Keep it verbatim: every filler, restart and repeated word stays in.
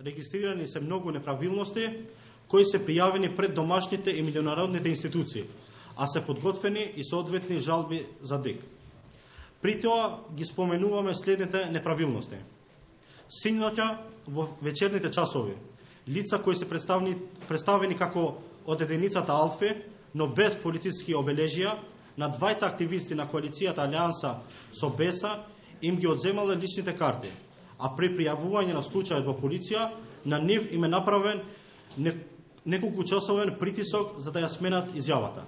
Регистрирани се многу неправилности кои се пријавени пред домашните и меѓународните институции, а се подготвени и соодветни жалби за ДИК. При тоа ги споменуваме следните неправилности. Синоќа во вечерните часови, лица кои се представени, представени како од единицата Алфи, но без полициски обележија, на двајца активисти на коалицијата Алијанса со Беса им ги одземале личните карти, а при пријавување на случајот во полиција, на нив им е направен неколку часовен притисок за да ја сменат изјавата.